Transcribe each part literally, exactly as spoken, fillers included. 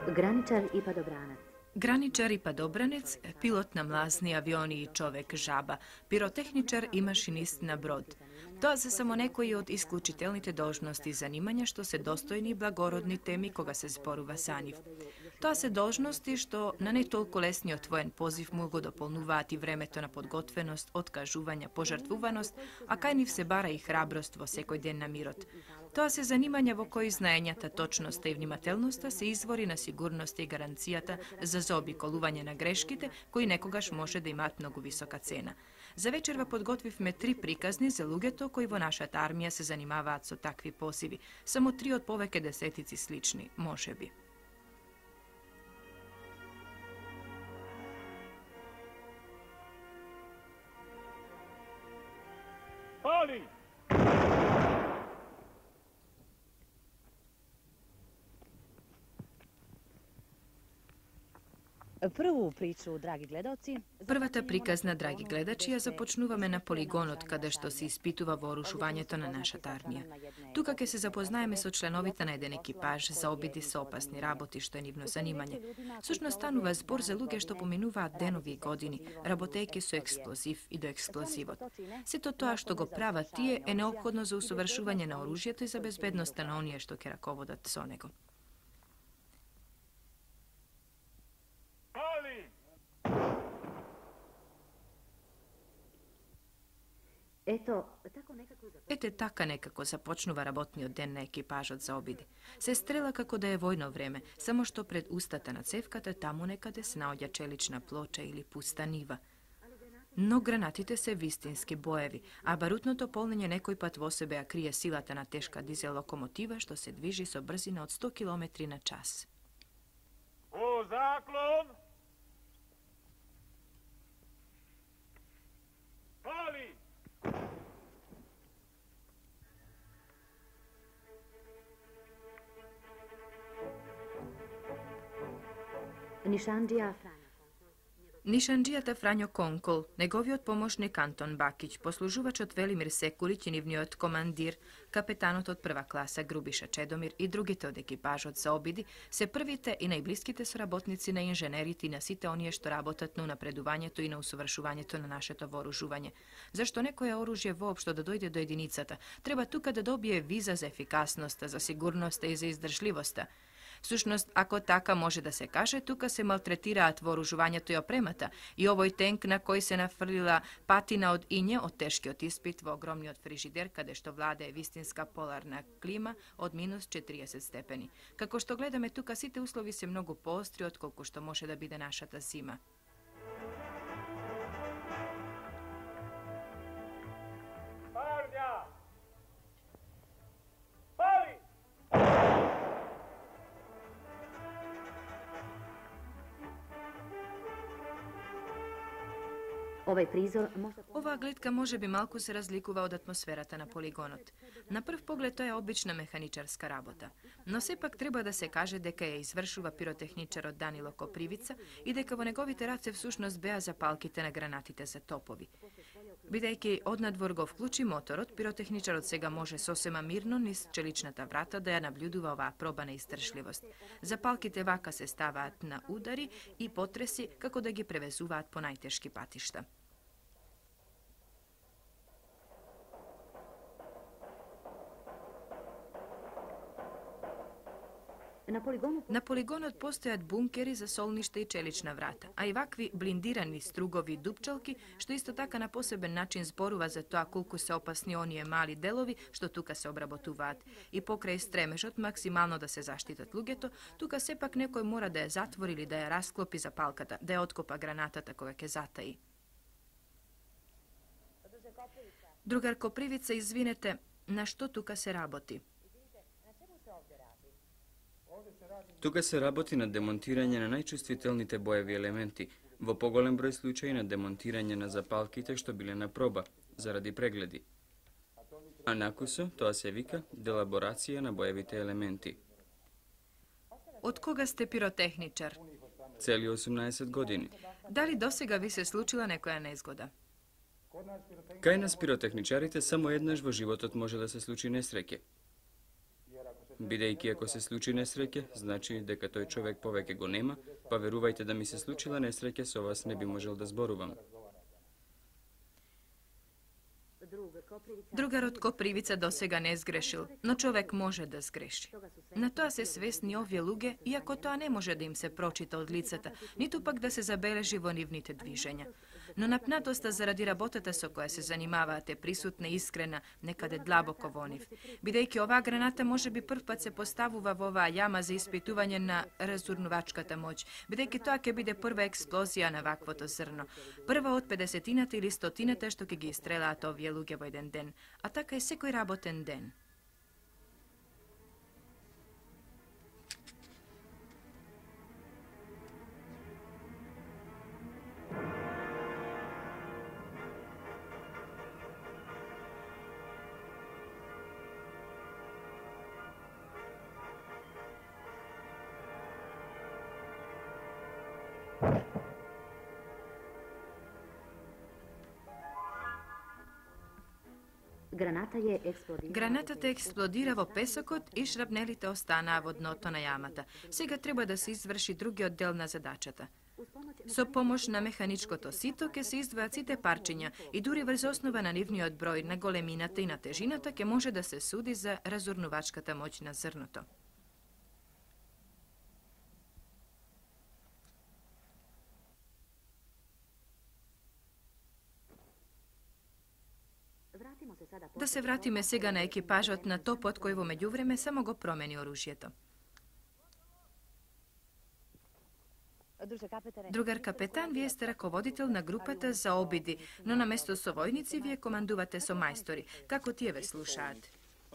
Graničar i padobranac. Graničar i padobranec, pilot na mlazni avioni i човек жаба, пиротехничар и машинист на брод. Тоа се само некои од исклучителните должности и занимања што се достојни и благородни теми кога се зборува за нив. Тоа се должности што на не толку лесниот воен позив му го дополнуваат и времето на подготвеност, откажување, пожртвуваност, а кај нив се бара и храброст во секој ден на мирот. Тоа се занимања во кои знаењата, точноста и внимателноста се извори на сигурноста и гаранцијата за заобиколување на грешките, кои некогаш може да имаат многу висока цена. За вечерва подготвивме три приказни за луѓето кои во нашата армија се занимаваат со такви позиви. Само три од повеќе десетици слични, можеби. Pali! Прву причу, драги гледалци... Првата приказна, драги гледачи, ја започнуваме на полигонот, каде што се испитува вооружувањето на нашата армија. Тука ќе се запознаеме со членовите на еден екипаж за обиди со опасни работи, што е нивно занимање. Сушно станува збор за луѓе што поминуваат денови и години, работејќи со експлозив и до експлозивот. Сето тоа што го прават тие е неопходно за усовршување на оружјето и за безбедноста на оние што ќе раководат со него. Ето, тако некако... Ете така некако започнува работниот ден на екипажот за обиди. Се стрела како да е војно време, само што пред устата на цевката таму некаде се наоѓа челична плоча или пуста нива. Но гранатите се вистински боеви, а барутното полнење некој пат во себе ја крие силата на тешка дизел локомотива што се движи со брзина од сто километри на час. У заклон! Пали! Нишанџија Фрањо. Нишанџијата Фрањо Конкол, неговиот помошник Антон Бакиќ, послужувачот Велимир Секулиќ и нивниот командир, капетанот од прва класа Грубиша Чедомир и другите од екипажот за обиди, се првите и најблиските соработници на инженерите и на сите оние што работат на унапредувањето и на усовршувањето на нашето вооружување. Зашто некое оружје воопшто да дојде до единицата, треба тука да добие виза за ефикасноста, за сигурноста и за издржливоста. Всушност, ако така може да се каже, тука се малтретираат вооружувањето и опремата, и овој тенк на кој се нафрлила патина од иње од тешкиот испит во огромниот фрижидер, каде што владее вистинска поларна клима од минус четириесет степени. Како што гледаме тука, сите услови се многу поостри од колку што може да биде нашата зима. Овај призор може... Оваа гледка може би малку се разликува од атмосферата на полигонот. На прв поглед тоа е обична механичарска работа, но сепак треба да се каже дека ја извршува пиротехничарот Данило Копривица и дека во неговите раце всушност беа запалките на гранатите за топови. Бидејќи однадвор го вклучи моторот, пиротехничарот сега може сосема мирно низ челичната врата да ја наблюдува оваа проба на издржливост. Запалките вака се ставаат на удари и потреси како да ги превезуваат по најтешки патишта. На полигонот... На полигонот постојат бункери за солниште и челична врата, а и вакви блиндирани стругови дупчалки, што исто така на посебен начин зборува за тоа колку се опасни оние мали делови што тука се обработуваат. И покрај стремежот максимално да се заштитат луѓето, тука сепак некој мора да ја затвори или да ја расклопи запалката, да ја откопа гранатата кога ќе затаи. Другар Копривица, извинете, на што тука се работи? Тука се работи на демонтирање на најчувствителните боеви елементи, во поголем број случаи на демонтирање на запалките што биле на проба, заради прегледи. А накусо, тоа се вика делаборација на боевите елементи. Од кога сте пиротехничар? Цели осумнаесет години. Дали досега ви се случила некоја незгода? Кај нас пиротехничарите само еднаш во животот може да се случи несреќе. Бидејќи ако се случи несреќа, значи дека тој човек повеќе го нема, па верувајте да ми се случила несреќа, со вас не би можел да зборувам. Другарот Копривица досега не сгрешил, но човек може да сгреши. На тоа се свесни овие луѓе, иако тоа не може да им се прочита од лицата, ниту пак да се забележи во нивните движења. Но напнатоста заради работата со која се занимаваат е присутна и искрена некаде длабоко во нив. Бидејќи оваа граната може би првпат се поставува во оваа јама за испитување на разурнувачката моќ, бидејќи тоа ќе биде прва експлозија на ваквото зрно. Прва од педесетината или стотината што ќе ги истрелаат овие луѓе во еден ден, а така е секој работен ден. Гранатата експлодира во песокот и шрапнелите останаа во дното на јамата. Сега треба да се изврши другиот дел на задачата. Со помош на механичкото сито ќе се издвојат сите парчиња и дури врз основа на нивниот број, на големината и на тежината ќе може да се суди за разурнувачката моќ на зрното. Да се вратиме сега на екипажот на топот кој во меѓувреме само го промени оружјето. Другар капетан, вие сте раководител на групата за обиди, но наместо со војници вие командувате со мајстори. Како тие ве слушаат?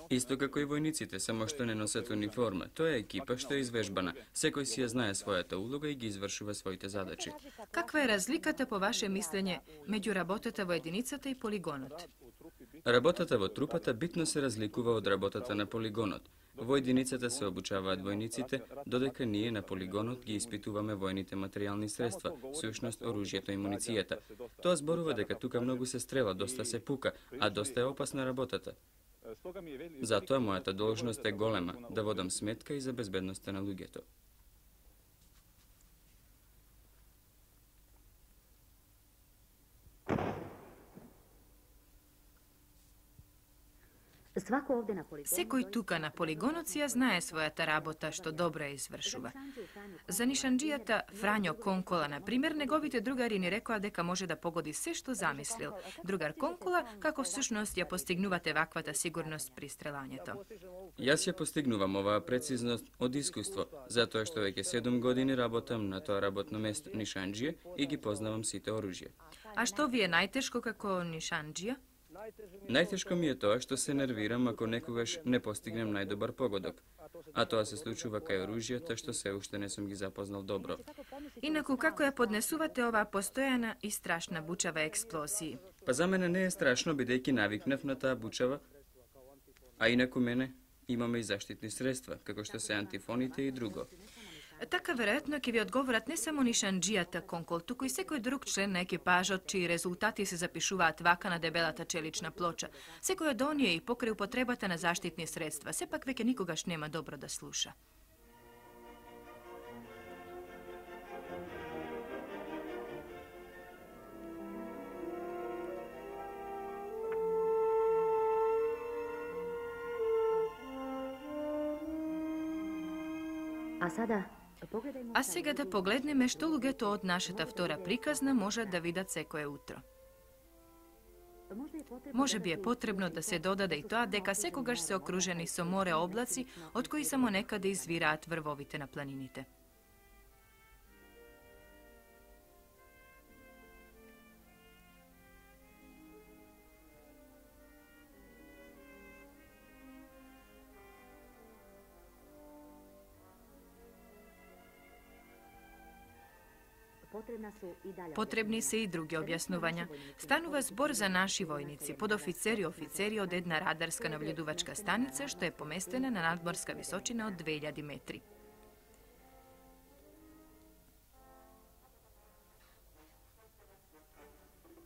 Исто како и војниците, само што не носат униформа. Тоа е екипа што е извежбана. Секој си ја знае својата улога и ги извршува своите задачи. Каква е разликата по ваше мислење меѓу работата во единицата и полигонот? Работата во трупата битно се разликува од работата на полигонот. Во единицата се обучаваат војниците, додека ние на полигонот ги испитуваме војните материјални средства, сушност оружјето и муницијата. Тоа зборува дека тука многу се стрела, доста се пука, а доста е опасна работата. Затоа мојата должност е голема, да водам сметка и за безбедноста на луѓето. Секој тука на полигонот си ја знае својата работа, што добро ја извршува. За нишанџијата Фрањо Конкола, например, неговите другари ни рекоа дека може да погоди се што замислил. Другар Конкола, како всушност ја постигнувате ваквата сигурност при стрелањето? Јас ја постигнувам оваа прецизност од искуство, затоа што веќе седум години работам на тоа работно место нишанџија и ги познавам сите оружја. А што ви е најтешко како нишанџија? Најтешко ми е тоа што се нервирам ако некогаш не постигнем најдобар погодок, а тоа се случува кај оружјата што се уште не сум ги запознал добро. Инаку како ја поднесувате оваа постојана и страшна бучава експлозија? Па за мене не е страшно, бидејќи навикнав на таа бучава, а инаку мене имаме и заштитни средства, како што се антифоните и друго. Така веројатно ќе ви одговорат не само нишанџијата Конкол, туку и секој друг член на екипажот чии резултати се запишуваат вака на дебелата челична плоча. Секој од оние и покрај употребата на заштитни средства, сепак веќе никогаш нема добро да слуша. А сада А сега да погледнеме што луѓето од нашата втора приказна можат да видат секое утро. Може би е потребно да се додаде и тоа дека секогаш се окружени со море облаци, од кои само некаде извираат врвовите на планините. Потребни се и други објаснувања. Станува збор за наши војници, подофицери и офицери од една радарска наблюдувачка станица што е поместена на надморска височина од две илјади метри.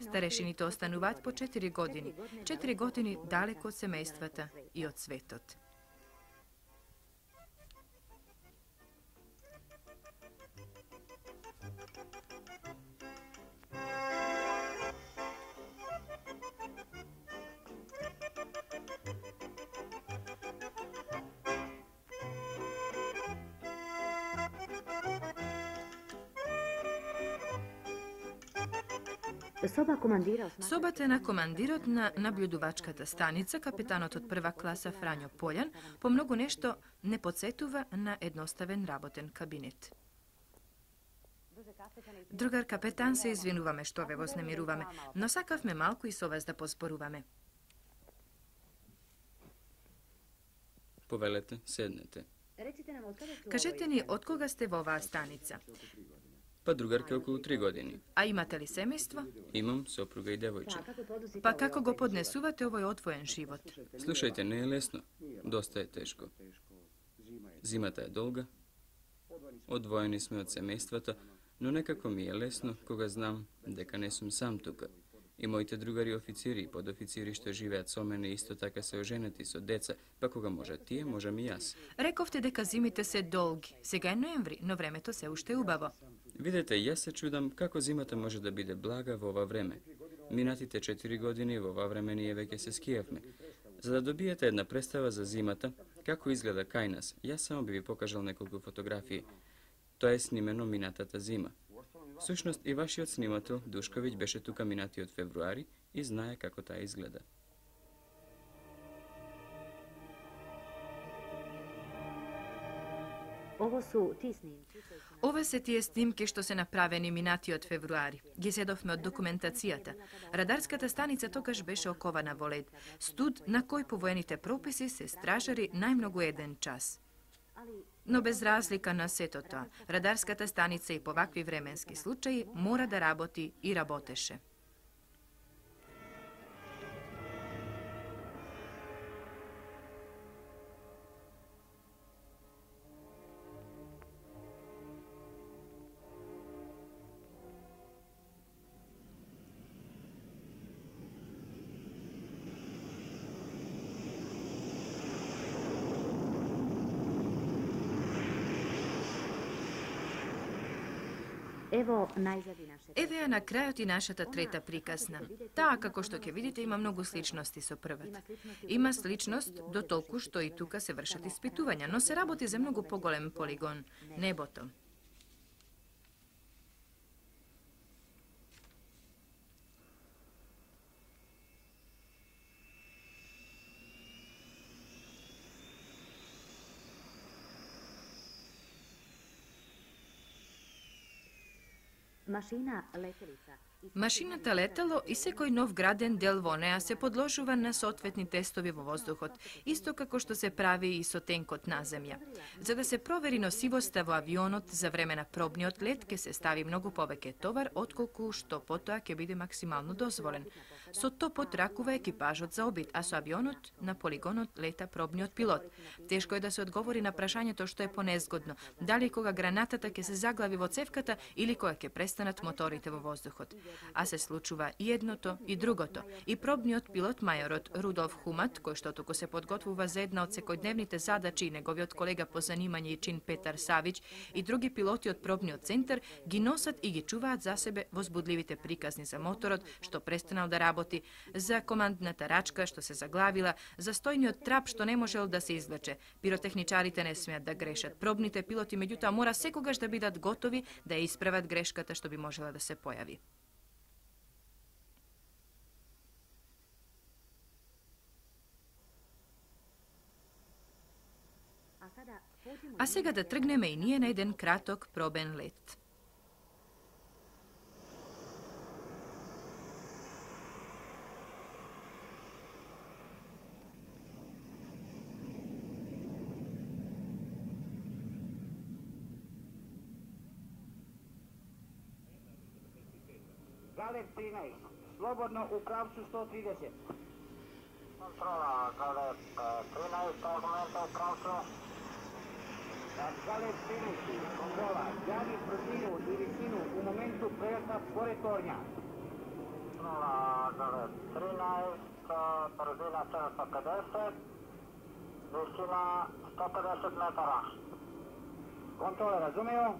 Старешините остануваат по четири години. четири години далеко од семејствата и од светот. Соба командира Собата на командирот на наблюдувачката станица, капитанот од прва класа Фрањо Полјан, по многу нешто не подсетува на едноставен работен кабинет. Другар капетан, се извинуваме што ве вознемируваме, но сакавме малку и со вас да поспоруваме. Повелете, седнете. Кажете ни, од кога сте во оваа станица? Па другарке околу три години. А имате ли семејство? Имам сопруга и девојче. Па како го поднесувате овој одвоен живот? Слушајте, не е лесно. Доста е тешко. Зимата е долга. Одвоени сме од семејствата, но некако ми е лесно кога знам дека не сум сам тука. И моите другари официри и подофицири што живеат со мене исто така се оженети со деца, па кога можат тие, можам и јас. Рековте дека зимите се долги. Сега е ноември, но времето се уште убаво. Видете, јас се чудам како зимата може да биде блага во ова време. Минатите четири години во ова време ние веќе се скијавме. За да добиете една представа за зимата, како изгледа кај нас, јас само би ви покажал неколку фотографии. Тоа е снимено минатата зима. Всушност и вашиот снимател Душковиќ беше тука минатиот февруари и знае како таа изгледа. Ово су ти снимки. Ова се тие снимки што се направени минатиот февруари. Ги седовме од документацијата. Радарската станица тогаш беше окована во лед. Студ на кој по воените прописи се стражари најмногу еден час. Но без разлика на сето тоа, радарската станица и по вакви временски случаи мора да работи и работеше. Ево најзади нашето. Еве ја на крајот и нашата трета приказна. Таа, како што ќе видите, има многу сличности со првата. Има сличност до толку што и тука се вршат испитувања, но се работи за многу поголем полигон, небото. Машина летелица. Машината летало и секој нов граден дел во неа се подложува на соодветни тестови во воздухот, исто како што се прави и со тенкот на земја. За да се провери носивоста во авионот за време на пробниот лет, ќе се стави многу повеќе товар отколку што потоа ќе биде максимално дозволен. Со топот ракува екипажот за обид, а со авионот на полигонот лета пробниот пилот. Тешко е да се одговори на прашањето што е понезгодно, дали кога гранатата ќе се заглави во цевката или кога ќе престанат моторите во воздухот. А се случува и едното и другото. И пробниот пилот мајорот Рудолф Хумат, кој што туку се подготвува за една од секојдневните задачи, и неговиот колега по занимање и чин Петар Савич и други пилоти од пробниот центар ги носат и ги чуваат за себе возбудливите приказни за моторот што престанал да работи, за командната рачка што се заглавила, за стојниот трап што не можел да се извлече. Пиротехничарите не смеат да грешат. Пробните пилоти меѓутоа мора секогаш да бидат готови да ја исправат грешката што би можела да се појави. А сега да тргнеме и ние на еден краток пробен лет. Галеб тринаесет, слободно у правцу сто тридесет. Контрола, Галеб тринаесет, аргумента у правцу. Галеб тринаесет, контрола, јави брзину и висину у моменту прелета според торња. Kontrola Galet trinaest, brzina sedamsto pedeset, visina sto pedeset metara. Kontrola razumeo.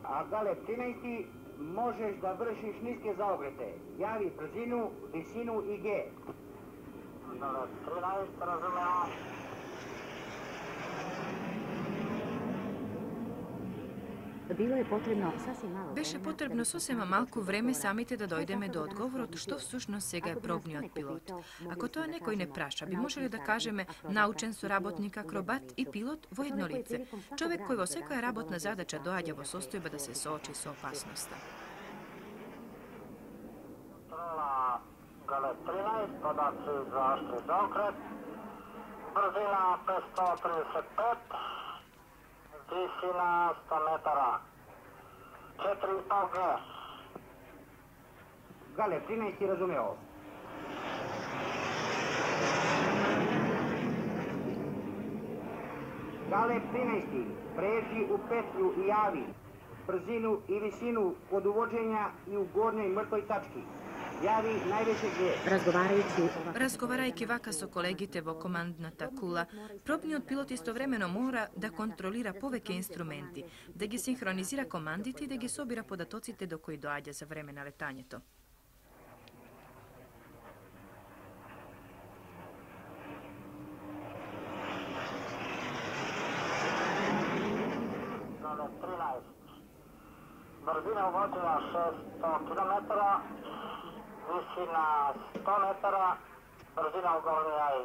A Galet trinaest možeš da vršiš niske zaokrete. Javi brzinu, visinu i G. Galet trinaest, razumeo. Bilo je potrebno sasvim malo Беше vremena потребно da bismo сосема sami малку došli do време odgovora. самите да Šta дојдеме tako до da danas одговорот možemo што biti? всушност сега е Ako bi nas пробниот neko пилот. pitao, mogli Ако тоа bismo da некој не kažemo праша, би naучen можеле да saradnik, кажеме akrobata научен i pilot соработник, u акробат jednom и licu. пилот во Čovek едно koji лице. prilikom svakog Човек кој во radnog секоја zadatka работна dolazi u задача situaciju доаѓа da во se состојба да се suoči соочи sa со опасноста. Kontrola Galet trinaest, podaci za oštri zaokret. Brzina petsto trideset pet, visina sto metara. četiri i po G. Galet trinaest razumeo. Galet trinaest pređi u petlju i javi brzinu i visinu kod uvođenja i u gornjoj mrtvoj tački. Javi najveće G. Razgovarajući ovako Разговарајќи вака со колегите во командната кула, пробниот пилот истовремено мора да контролира повеќе инструменти, да ги синхронизира командите и да ги собира податоците до кои доаѓа за време на летањето. Galet trinaest. Brzina uvođenja šesto kilometara, visina sto metara, brzina u gornjoj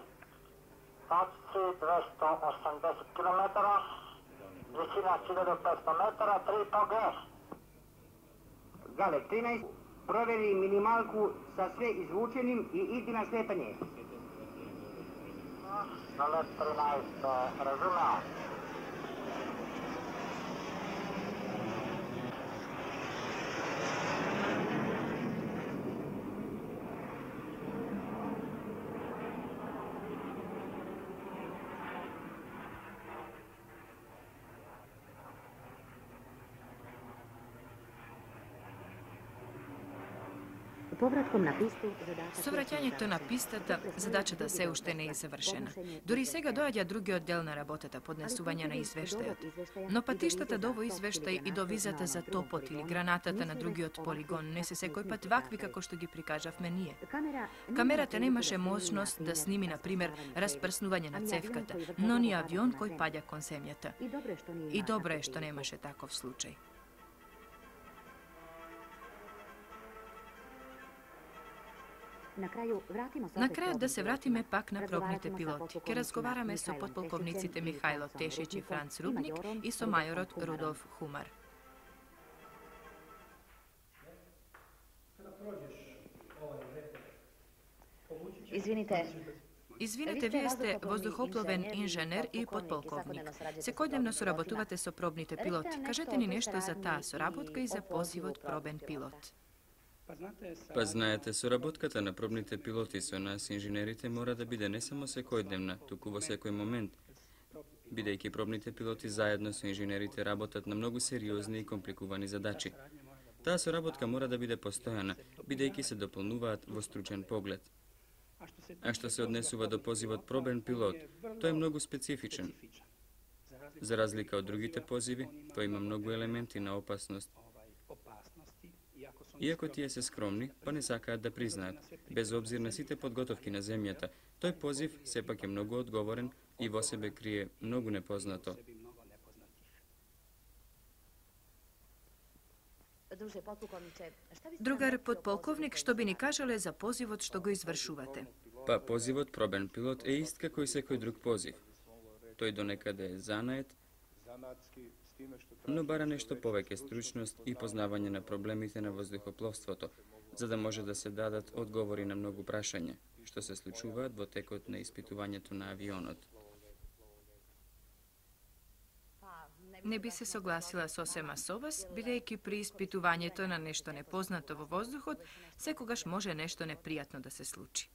tačci dvesta osamdeset kilometara, visina hiljadu petsto metara, tri i po G. Galet trinaest proveri minimalku sa sve izvučenim i idi na sletanje. Galet trinaest, razumeo. Povratkom na pistu, zadatak Со враќањето на пистата, задачата се уште не е завршена. Дури сега доаѓа другиот дел на работата, поднесување на извештајот. Но патиштата до овој извештај и до визата за топот или гранатата на другиот полигон не се секој пат вакви како што ги прикажавме ние. Камерата немаше можност да сними, на пример, распрснување на цевката, но ни авион кој паѓа кон земјата. И добро е што немаше таков случај. Na kraju, vratimo se На opet крајот да се probnim вратиме pilotima. пак на пробните Razgovarat ćemo sa пилоти. Ке potpukovnicima разговараме со Mihajlom подполковниците Tešećem i Михајло Fransom Тешиć и Rudnikom Франц i Рудник majorom и со Rudolfom мајорот Humarom. Рудолф Хумар. Izvinite, Извинете, вие сте воздухопловен инженер и подполковник. Секојдневно соработувате со пробните пилоти. Кажете ни нешто за таа соработка и за позивот пробен пилот. Па знаете, соработката на пробните пилоти со нас, инженерите, мора да биде не само секојдневна, туку во секој момент. Бидејќи пробните пилоти заедно со инженерите работат на многу сериозни и компликувани задачи. Таа соработка мора да биде постојана, бидејќи се дополнуваат во стручен поглед. А што се однесува до позивот пробен пилот, тој е многу специфичен. За разлика од другите позиви, тој има многу елементи на опасност. Иако тие се скромни, па не сакаат да признаат, без обзир на сите подготовки на земјата, тој позив сепак е многу одговорен и во себе крие многу непознато. Другар подполковник, што би ни кажале за позивот што го извршувате? Па позивот пробен пилот е ист како и секој друг позив. Тој донекаде е занает, но бара нешто повеќе стручност и познавање на проблемите на воздухопловството, за да може да се дадат одговори на многу прашања, што се случуваат во текот на испитувањето на авионот. Не би се согласила сосема со вас, бидејќи при испитувањето на нешто непознато во воздухот, секогаш може нешто непријатно да се случи.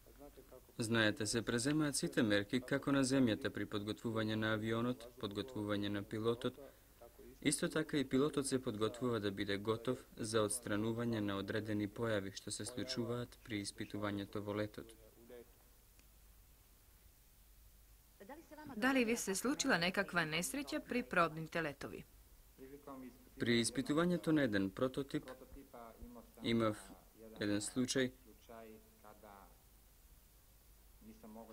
Знаете, се преземаат сите мерки како на земјата при подготвување на авионот, подготвување на пилотот, Исто така и пилотот се подготвува да биде готов за отстранување на одредени појави што се случуваат при испитувањето во летот. Дали ви се случила некаква несреќа при пробните летови? При испитувањето на еден прототип имав еден случај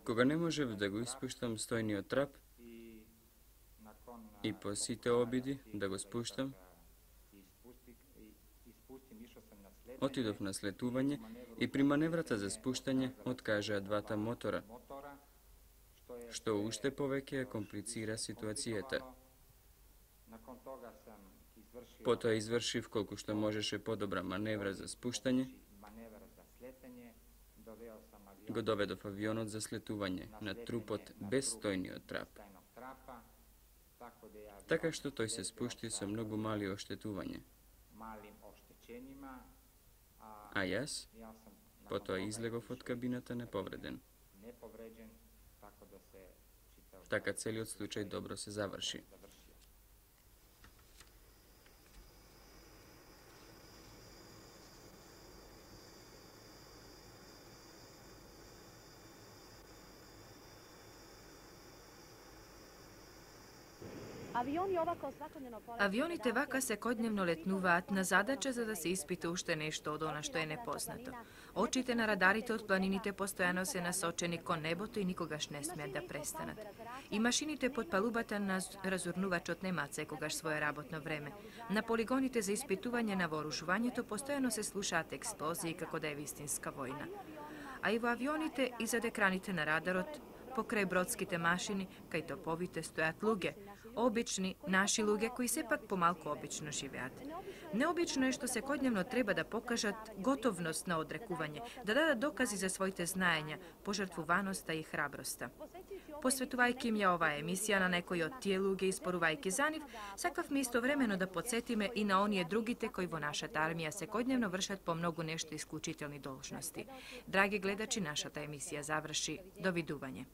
кога не можев да го испуштам стојниот трап и по сите обиди да го спуштам, отидов на слетување и при маневрата за спуштање откажаа двата мотора, што уште повеќе ја комплицира ситуацијата. Потоа извршив колку што можеше подобра маневра за спуштање, го доведов авионот за слетување на трупот без стојниот трап, така што тој се спушти со многу мали оштетувања. А јас потоа излегов од кабината неповреден. Така целиот случај добро се заврши. Авионите вака секојдневно летнуваат на задача за да се испита уште нешто од она што е непознато. Очите на радарите од планините постојано се насочени кон небото и никогаш не смеат да престанат. И машините под палубата на разурнувачот немаат секогаш свое работно време. На полигоните за испитување на вооружувањето постојано се слушаат експлозии како да е вистинска војна. А и во авионите и зад екраните на радарот, покрај бродските машини, кај топовите стојат луѓе, обични, наши луѓе кои сепак помалку обично живеат. Необично е што секојдневно треба да покажат готовност на одрекување, да дадат докази за своите знаења, пожртвуваноста и храброста. Посветувајќи им ја оваа емисија на некои од тие луѓе и спорувајќи за нив, сакавме истовремено да потсетиме и на оние другите кои во нашата армија секојдневно вршат по многу нешто исклучителни должности. Драги гледачи, нашата емисија заврши. Довидување.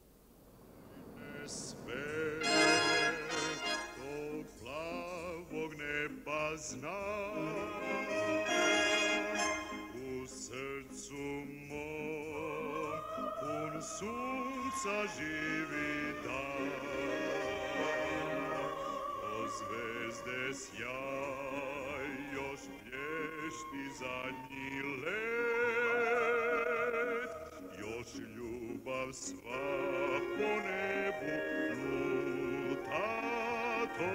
Neba zna, u srcu mom pun sunca živi dan. O zvezde sjaj još plješti zadnji let, još ljubav sva po nebu luta to.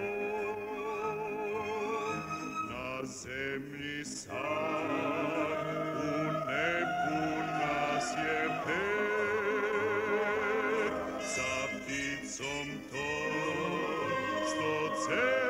Zemlji sad, u nebu nas je pet, sa pticom to, što cel